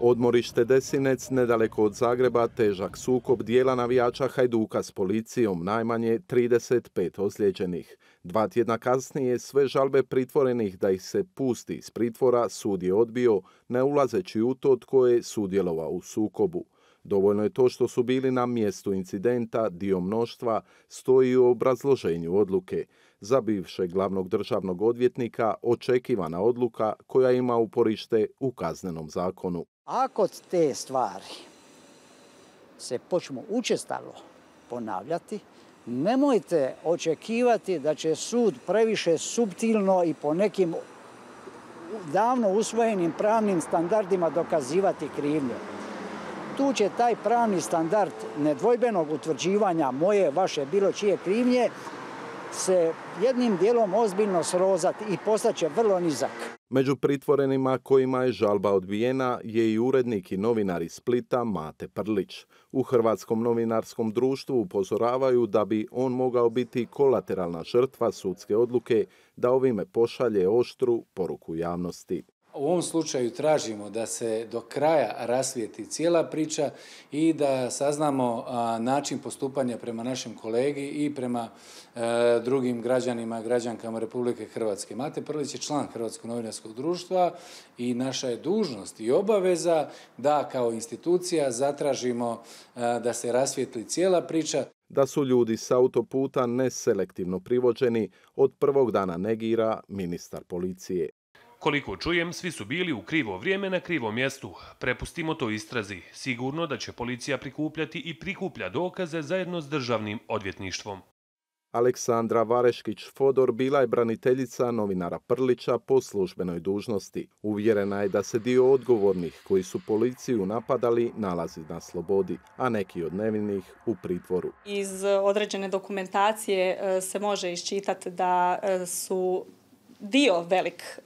Odmorište Desinec, nedaleko od Zagreba, težak sukob dijela navijača Hajduka s policijom, najmanje 35 ozlijeđenih. 2 tjedna kasnije sve žalbe pritvorenih da ih se pusti iz pritvora sud je odbio, ne ulazeći u to tko je sudjelovao u sukobu. Dovoljno je to što su bili na mjestu incidenta, dio mnoštva, stoji u obrazloženju odluke. Za bivšeg glavnog državnog odvjetnika očekivana odluka koja ima uporište u Kaznenom zakonu. Ako te stvari se počnu učestalo ponavljati, nemojte očekivati da će sud previše suptilno i po nekim davno usvojenim pravnim standardima dokazivati krivnju. Tu će taj pravni standard nedvojbenog utvrđivanja moje, vaše, bilo čije krivnje se jednim dijelom ozbiljno srozati i postaće vrlo nizak. Među pritvorenima kojima je žalba odbijena je i urednik i novinar iz Splita Mate Prlić. U Hrvatskom novinarskom društvu upozoravaju da bi on mogao biti kolateralna žrtva sudske odluke da ovime pošalje oštru poruku javnosti. U ovom slučaju tražimo da se do kraja rasvijetli cijela priča i da saznamo način postupanja prema našem kolegi i prema drugim građanima, građankama Republike Hrvatske. Mate Prlić je član Hrvatskog novinarskog društva i naša je dužnost i obaveza da kao institucija zatražimo da se rasvijetli cijela priča. Da su ljudi s autoputa neselektivno privođeni od prvog dana negira ministar policije. Koliko čujem, svi su bili u krivo vrijeme na krivom mjestu. Prepustimo to istrazi. Sigurno da će policija prikupljati i prikuplja dokaze zajedno s državnim odvjetništvom. Aleksandra Vareškić-Fodor bila je braniteljica novinara Prlića po službenoj dužnosti. Uvjerena je da se dio odgovornih koji su policiju napadali nalazi na slobodi, a neki od nevinih u pritvoru. Iz određene dokumentacije se može iščitati da su dio velik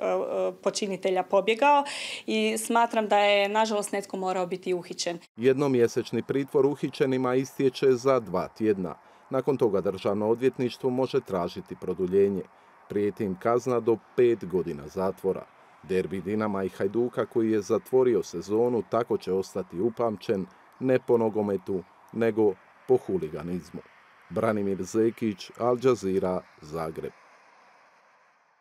počinitelja pobjegao i smatram da je, nažalost, netko morao biti uhićen. Jednomjesečni pritvor uhićenima istječe za 2 tjedna. Nakon toga državno odvjetništvo može tražiti produljenje. Prijeti im kazna do 5 godina zatvora. Derbi Dinama i Hajduka koji je zatvorio sezonu tako će ostati upamćen ne po nogometu, nego po huliganizmu. Branimir Zekić, Al Jazeera, Zagreb.